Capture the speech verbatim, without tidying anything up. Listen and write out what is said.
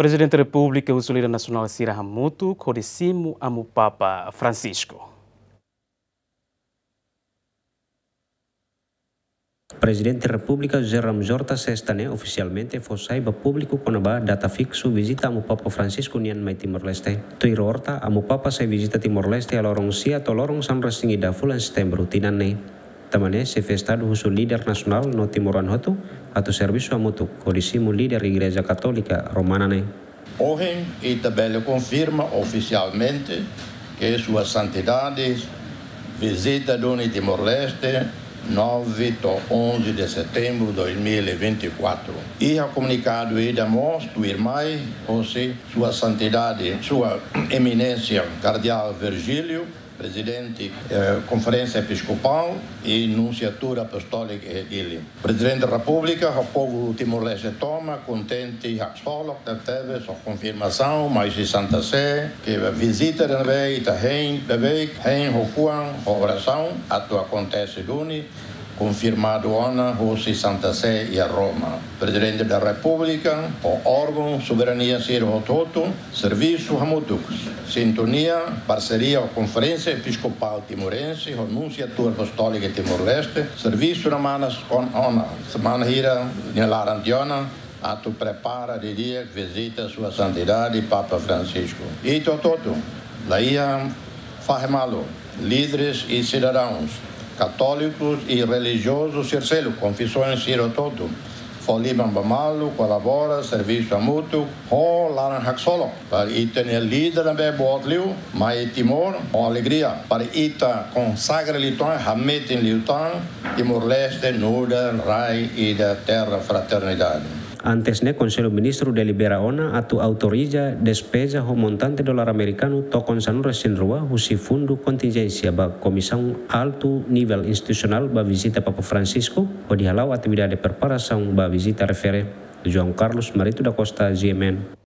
Prezidente Repúblika husu líder nasionál sira hamutuk hodi simu Amu Papa Francisco. Prezidente Repúblika José Ramos Horta sesta ne'e ofisialmente fó sai ba públiku kona-ba data fiksu vizita Amu Papa Francisco nian mai Timor-Leste. Tuir Horta, Amu Papa sai vizita Timor-Leste iha loron sia to'o loron sanulu-resin-ida fulan Setembru tinan ne'e. Tanba ne'e, xefe Estadu husu líder nasionál no timoroan hotu atu servisu hamutuk hodi simu líder Igreja Katólika Romana ne'e. Ohin ita bele konfirma ofisialmente ke Sua Santidade vizita duni Timor-Leste nove to'o onze de Setembro dois mil e vinte e quatro. Iha komunikadu ida mós tuirmai hosi Sua Santidade, Sua Eminénsia Kardeál Virgílio, Prezidente, eh, Konferénsia Episkopál i Nunsiatura Apostólika iha Dili. Prezidente Repúblika ho povu Timor-Leste tomak kontente haksolok tebetebes ho konfirmasaun mai husi Santa Sé, ke vizita ne'ebé ita hein beibeik, hein ho fuan, ho orasaun, atu akontese duni, konfirmadu ona hosi Santa Sé iha Roma. Prezidente da Repúblika ho órgaun soberania sira hotu-hotu servisu hamutuk, sintonia, parseria ho Konferénsia Episkopál Timorense ho Nunsiatura Apostólika Timor-Leste, servisu ne'e manas ona, semana hira nia laran tiha ona, atu prepara didi'ak vizita Sua Santidade Papa Francisco. Ita hotu-hotu, laiha fahe malu, líderes i sidadauns, katólikus i relijiozus sira seluk, konfesoens sira hotu-hotu, fó liman ba malu, kolabora, servisu hamutuk ho laran haksolok, para ita-nia líder ne'ebé boot liu mai Timor ho alegria, para ita konsagra liután, hametin liután Timor-Leste nu'udar rai ida terra fraternidade. Antes ne'e, Konsellu Ministru delibera ona atu autoriza despeza ho montante dolar amerikanu tokon sanulu-resin-rua husi fundu kontinjénsia ba Komisaun Altu Nivel Institusionál ba vizita Papa Francisco, hodi hala'o atividade preparasaun ba vizita refere. João Carlos Marito da Costa, G M N.